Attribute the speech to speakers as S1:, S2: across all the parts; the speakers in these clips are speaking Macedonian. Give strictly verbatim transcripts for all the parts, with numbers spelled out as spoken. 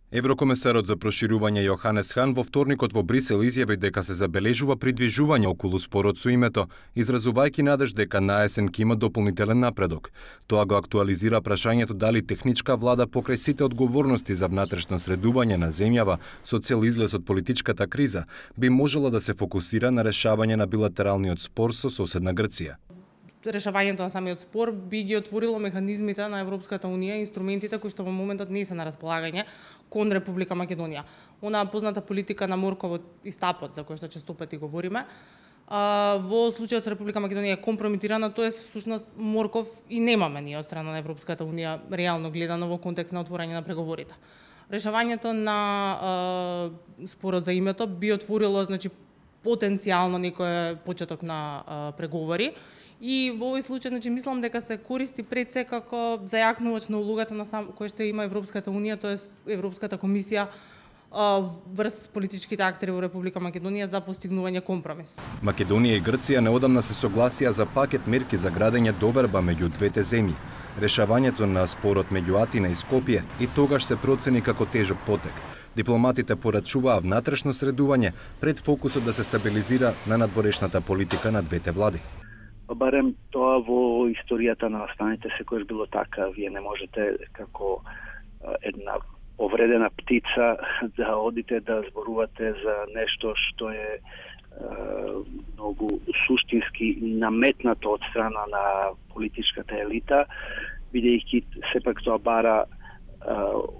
S1: Еврокомесарот за проширување Јоханес Хан во вторникот во Брисел изјави дека се забележува придвижување околу спорот со името, изразувајќи надеж дека наесен ќе има дополнителен напредок. Тоа го актуализира прашањето дали техничка влада покрај сите одговорности за внатрешно средување на земјава со цел излез од политичката криза би можела да се фокусира на решавање на билатералниот спор со соседна Грција.
S2: Решавањето на самиот спор би ги отворило механизмите на Европската унија и инструментите кои што во моментот не се на располагање кон Република Македонија. Онаа позната политика на морковот и стапот, за кој што често пати говориме, во случајот со Република Македонија е компрометирана, тоест всушност морков и немаме ние од страна на Европската унија реално гледано во контекст на отворање на преговорите. Решавањето на е, спорот за името би отворило, значи, потенцијално некој почеток на е, преговори. И во овој случај, значи, мислам дека се користи пред се како зајакнувач на улогата на сам кој што има Европската унија, тоест Европската комисија врз политичките актери во Република Македонија за постигнување компромис.
S1: Македонија и Грција неодамна се согласија за пакет мерки за градење доверба меѓу двете земји. Решавањето на спорот меѓу Атина и Скопје и тогаш се процени како тежок потек. Дипломатите порачуваа внатрешно средување пред фокусот да се стабилизира на надворешната политика на двете влади.
S3: Барем тоа во историјата на настаните секојаш било така. Вие не можете како една повредена птица да одите да зборувате за нешто што е, е многу суштински наметнато од страна на политичката елита, бидејќи сепак тоа бара е,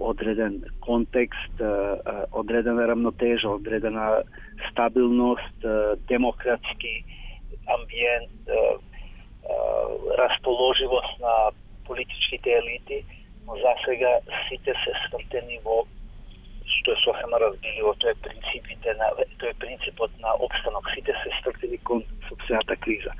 S3: одреден контекст, е, одредена рамнотежа, одредена стабилност, е, демократски амбиент, расположивост на политичките елити, но за сега сите се свртени во што е сосема разбиливо, тоа е принципите на тоа е принципот на опстанок, сите се свртени кон сопствената криза.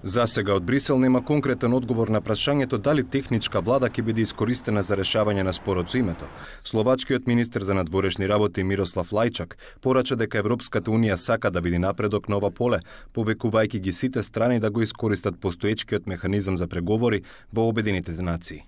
S1: За сега од Брисел нема конкретен одговор на прашањето дали техничка влада ќе биде искористена за решавање на спорот со името. Словачкиот министер за надворешни работи Мирослав Лајчак порача дека Европската унија сака да види напредок на ова поле, повекувајќи ги сите страни да го искористат постоечкиот механизам за преговори во Обединетите нации.